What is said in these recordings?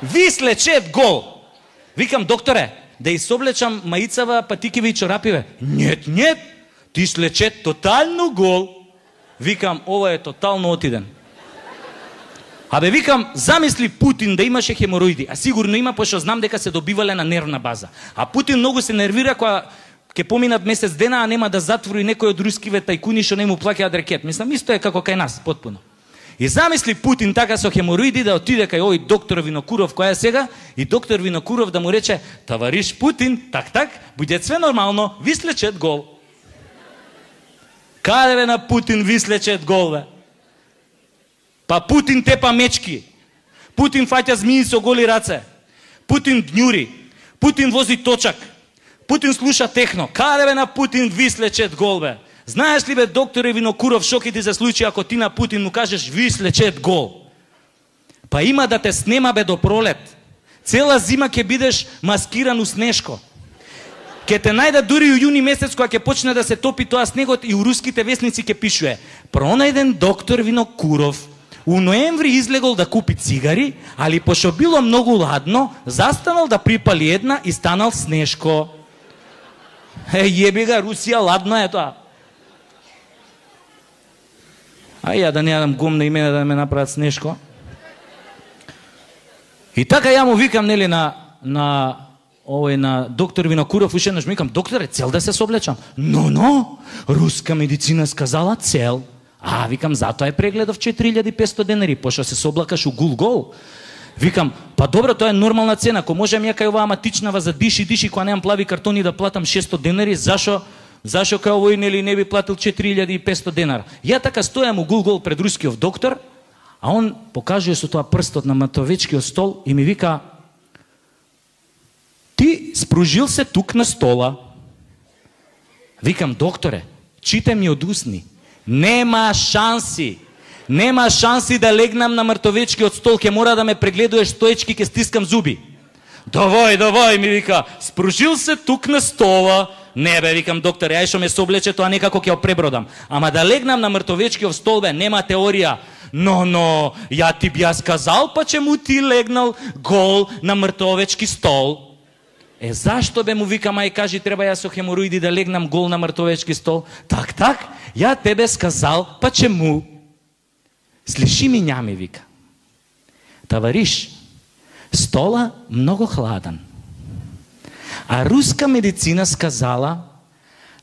Вислечет гол. Викам, докторе, да изоблечам маицава, патикиве и чорапиве. Нет, ти слечет тотално гол. Викам, ова е тотално отиден. Абе, викам, замисли Путин да имаше хемороиди, а сигурно има, пошто знам дека се добивале на нервна база. А Путин многу се нервира кога ќе поминат месец дена, а нема да затвори некој од рускиве тајкуни што не му плаќаат рекет. Мислам, исто е како кај нас, потпуно. И замисли Путин така со хемороиди да отиде кај овој доктор Винокуров, која е сега, и доктор Винокуров да му рече, товариш Путин, так, буде све нормално, вислечет гол. Каде бе на Путин вислечет гол, бе? Па Путин тепа мечки, Путин фаќа змии со голи раце, Путин дњури, Путин вози точак, Путин слуша техно. Каде бе на Путин вислечет гол, бе? Знаеш ли, бе, докторе Винокуров, шо ќе ти се случи ако ти на Путин му кажеш вислечет гол? Па има да те снема, бе, до пролет. Цела зима ќе бидеш маскиран у снешко. Ке те најдат дури у јуни месец кога ќе почне да се топи тоа снегот и у руските весници ќе пишуе: пронајден доктор Винокуров у ноември излегол да купи цигари, али пошто било многу ладно, застанал да припали една и станал снешко. Јеби га, Русија, ладно е тоа. А ја да не јадам гумна и мене да ме направат снешко. И така ја му викам, нели, на доктор Винокуров, уште еднаш викам, докторе, цел да се соблечам? Но, руска медицина сказала цел. А, викам, затоа е прегледов 4500 денари, пошто се соблакаш у гул-гол. Викам, па добро, тоа е нормална цена, ако можем ја кај оваа матичнава за диши, кога немам плави картони да платам 600 денари, зашо кај овој, нели, не би платил 4500 денара? Ја така стојам у гул-гол пред рускиот доктор, а он покажува со тоа прстот на матовечкиот стол и ми вика: ти спружил се тук на стола. Викам, докторе, чите ми од усни. Нема шанси да легнам на мртовечкиот стол, ќе мора да ме прегледуваш стоечки, ќе стискам зуби. Давај, ми вика, спружил се тук на стола. Не бе, викам, докторе, ај шо ме соблече, тоа некако ќе опребродам. Ама да легнам на мртовечкиот стол, бе, нема теорија. Но, ја ти бија сказал, па че му ти легнал гол на мртовечки стол. Зашто бе, му викам, ај кажи, треба ја со хемороиди да легнам гол на мртовечки стол? Так, ја тебе сказал, па че му. Слиши ми, нями, вика. Товариш, стола многу хладен. А руска медицина сказала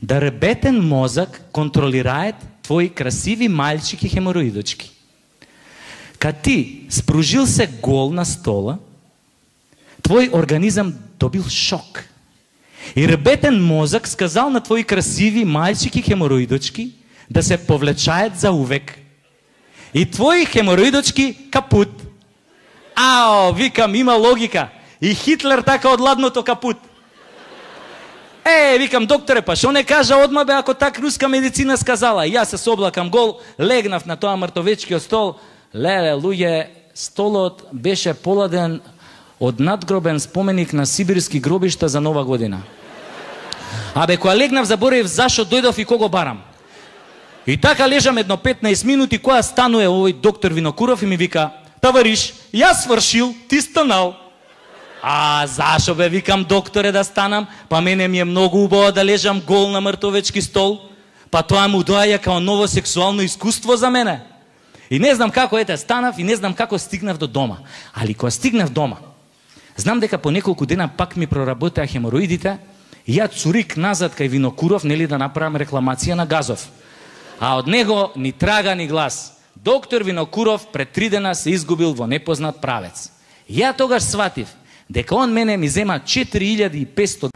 да ребетен мозак контролираат твои красиви мальчики хемороидочки. Кад ти спружил се гол на стола, твој организам добил шок. И ребетен мозак сказал на твои красиви мальчики хемороидочки да се повлечаат за увек. И твои хемороидочки капут. Ао, викам, има логика. И Хитлер така од ладното капут. Викам, докторе, па шо не кажа одма, бе, ако так руска медицина сказала? Јас се соблакам гол, легнав на тоа мртовечкиот стол. Леле, луѓе, столот беше поладен од надгробен споменик на сибирски гробишта за Нова година. Абе, кога легнав, заборев зашо дојдов и кого барам. И така лежам едно 15 минути, која станува овој доктор Винокуров и ми вика: товариш, јас свршил, ти станал. А зашо бе, викам, докторе, да станам? Па мене ми е многу убаво да лежам гол на мртовечки стол. Па тоа му доаѓа као ново сексуално искуство за мене. И не знам како станав и не знам како стигнав до дома. Али кога стигнав дома, знам дека по неколку дена пак ми проработеа хемороидите и ја цурик назад кај Винокуров, нели, да направам рекламација на газов. А од него ни трага ни глас. Доктор Винокуров пред 3 дена се изгубил во непознат правец. Ја тогаш сватив дека он мене ми зема 4500